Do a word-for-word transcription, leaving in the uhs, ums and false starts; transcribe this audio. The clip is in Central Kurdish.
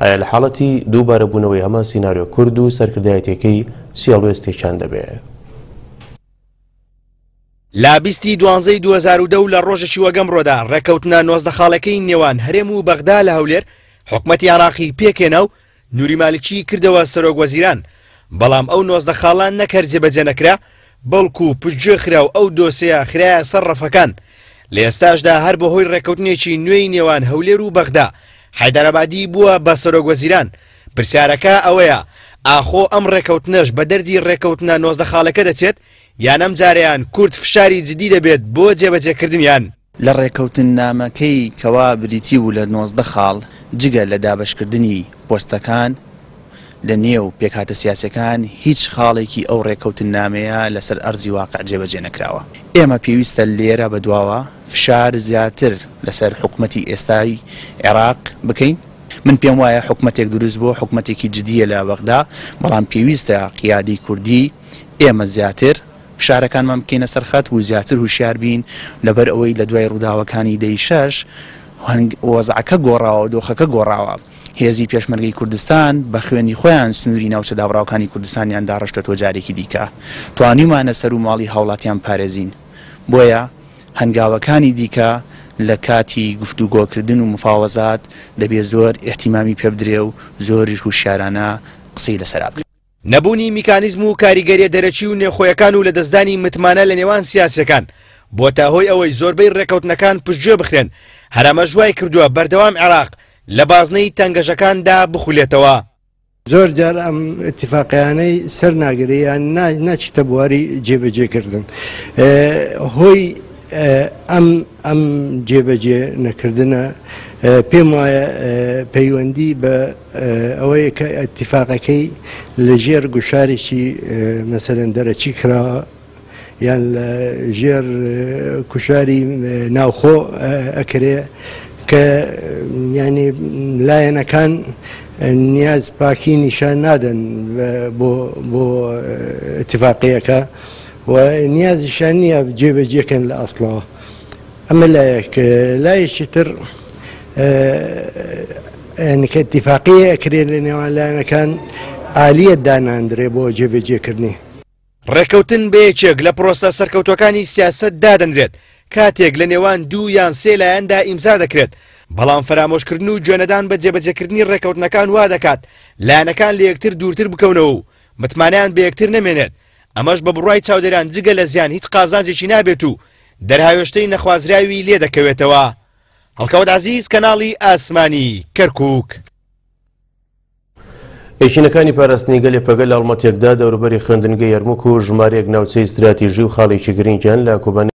ئایا لە حاڵەتی دووبارەبوونەوەی هەمان سیناریۆ کورد و سەرکردایەتیەکەی چی هەڵوێستێکیان دەبێ؟ لە بیستی دوانزەی دوو هەزار و دە و لە ڕۆژێکی وەگەمڕۆدا ڕێککەوتنە نۆزدە خاڵەکەی نێوان هەرێم و بەغدا لە هەولێر حکومەتی عێراقی پێکهێنا و نوری مالکی کردەوە سەرۆک وەزیران، بەڵام ئەو نۆزدە خاڵە نەک هەر جێبەجێ نەکرا بەڵکو پشتگوێ خرا و ئەو دۆسیە خرایە سەر ڕەفەکان. لە ئێستاشدا هەر بەهۆی ڕێککەوتنێکی نوێی نێوان هەولێر و بەغدا حەیدەرئابادی بووە بە سەرۆک وەزیران. پرسیارەکە ئەوەیە ئاخۆ ئەم ڕێککەوتنەش بە دەردی ڕێککەوتنە نۆزدە خاڵەکە دەچێت یان ئەم جارەیان کورد فشاری جدی دەبێت بۆ جێبەجێکردنیان؟ لە ڕێککەوتننامەکەی کەوا بریتی بوو لە نۆزدە خاڵ جگە لە دابەشکردنی پۆستەکان لە نێو پێکهاتە سیاسەکان هیچ خاڵێکی ئەو ڕێککەوتننامەیە لەسەر ئەرزی واقع جێبەجێ نەکراوە. ئێمە پێویستە لێرە بەدواوە فشار زیاتر لەسەر حکومەتی ئێستای عێراق بکەین. من پێم وایە حکومەتێک دروست بووە، حکومەتێکی جدیە لە بەغدا، بەڵام پێویستە قیادی کوردی ئێمە زیاتر فشارەکانمان بکەینە سەر خەت و زیاتر هوشیار بین، لەبەر ئەوەی لە دوای ڕووداوەکانی دەی شەش وەزعەکە گۆڕاوە، دۆخەکە گۆڕاوە. هێزی پێشمەرگەی کوردستان بە خوێنی خۆیان سنووری ناوچە دابڕاوەکانی کوردستانیان داڕشتەوە جارێکی دیکە توانیومانە سەر و ماڵی هاوڵاتیان پارێزین. بۆیە هەنگاوەکانی دیکە لە کاتی گفتوگۆکردن و مفاوەزات دەبێت زۆر احتیمامی پێ بدرێ و زۆریش هوشیارانە قسەی لەسەر بکرێت. نەبوونی میکانیزم و کاریگەریە دەرەکی و نێوخۆیەکان و لەدەستدانی متمانە لە نێوان سیاسیەکان بۆتە هۆی ئەوەی زۆربەی ڕێککەوتنەکان پشتگوێ بخرێن. هەرەمەش وای کردووە بەردەوام عێراق لە بازنەی تەنگەژەکاندا بخولێتەوە. زۆر جار ئەم اتفاقیانەی سەر ناگرێ یان ناچیتە بواری جێبەجێکردن. هۆی ئەم ئەم جێبەجێ نەکردنە پێم وایە پەیوەندی بە ئەوەیە کە اتفاقەکەی لەژێر گوشارێکی مەسەلەن دەرەکی کراوە یان لە ژێر کوشاری ناوخۆ ئەکرێ کە ینی لایەنەکان نیاز پاکی نیشان نادەن بۆ بۆ اتفاقیەکە و نیازیشان نییە جێبەجێکەن لە ئەسڵەوە. ئەمە لایەک. لایەکی تر کە اتفاقیە ئەکرێت لە نێوان لایەنەکان ئالیەت داناندرێ بۆ جێبەجێکردنی. ڕێککەوتن بە یەکێک لە پرۆسە سەرکەوتوەکانی سیاسەت دادەنرێت کاتێک لە نێوان دوو یان سێ لایەندا ئیمزا دەکرێت، بەڵام فەرامۆشکردن و گوێنەدان بە جێبەجێکردنی ڕێککەوتنەکان وا دەکات لایەنەکان لە یەکتر دوورتر بکەونەوە و متمانەیان بە یەکتر نەمێنێت. ئەمەش بە بڕوای چاودێران جگە لە زیان هیچ قازانجێکی نابێت و دەرهاوێشتەی نەخوازراوی لێ دەکەوێتەوە. هەڵکەوت عەزیز، کەناڵی ئاسمانی کەرکووک. یەکینەکانی پاراستنی گەل یەپەگە لە هەڵمەتێکدا دەوروبەری خوێندنگەی یەرموک و ژمارەیەک ناوچەی استراتیژی و خاڵێکی گرنگیان لە کۆبانی